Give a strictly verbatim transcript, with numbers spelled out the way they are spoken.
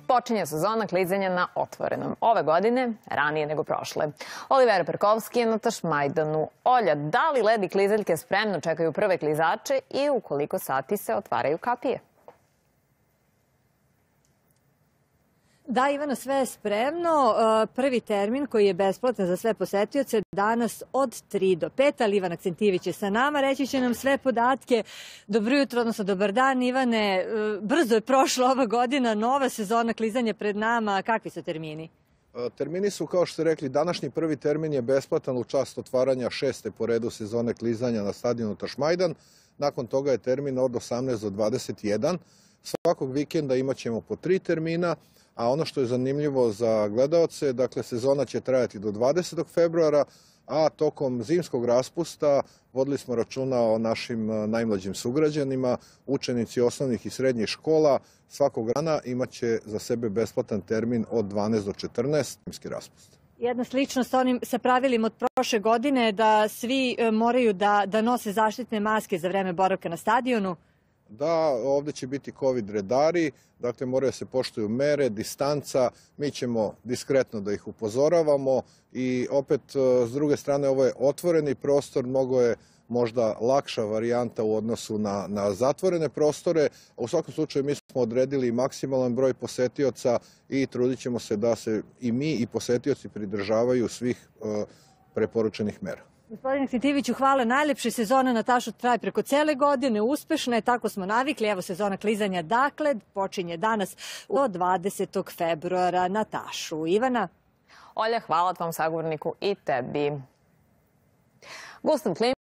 Počinje sezona klizanja na otvorenom. Ove godine ranije nego prošle. Olivera Perkovski je na Tašmajdanu. Olja, da li led i klizaljke spremno čekaju prve klizače i u koliko sati se otvaraju kapije? Da, Ivana, sve je spremno. Prvi termin koji je besplatan za sve posetioce danas od tri do pet, ali Ivan Akcentijević je sa nama. Reći će nam sve podatke. Dobro jutro, odnosno dobar dan, Ivane. Brzo je prošla ova godina, nova sezona klizanja pred nama. Kakvi su termini? Termini su, kao što ste rekli, današnji prvi termin je besplatan u čast otvaranja šeste po redu sezone klizanja na stadionu Tašmajdan. Nakon toga je termin od osamnaest do dvadeset jedan. Svakog vikenda imat ćemo po tri termina. A ono što je zanimljivo za gledaoce, dakle, sezona će trajati do dvadesetog februara, a tokom zimskog raspusta vodili smo računa o našim najmlađim sugrađanima. Učenici osnovnih i srednjih škola svakog dana imat će za sebe besplatan termin od dvanaest do četrnaest, zimski raspust. Jedna sličnost sa onim sa pravilima od prošle godine da svi moraju da, da nose zaštitne maske za vreme boravka na stadionu. Da, ovdje će biti covid redari, dakle moraju se poštuju mere, distanca, mi ćemo diskretno da ih upozoravamo i opet s druge strane ovo je otvoreni prostor, mnogo je možda lakša varijanta u odnosu na, na zatvorene prostore. U svakom slučaju mi smo odredili maksimalan broj posetioca i trudit ćemo se da se i mi i posetioci pridržavaju svih uh, preporučenih mera. Gospodine Akcentijeviću, hvala. Najlepša sezona na Tašu traje preko cele godine, uspešna je, tako smo navikli. Evo sezona klizanja, dakle, počinje danas od dvadesetog februara na Tašu. Ivana? Olja, hvala tvom sagovorniku i tebi. Gustav Kliman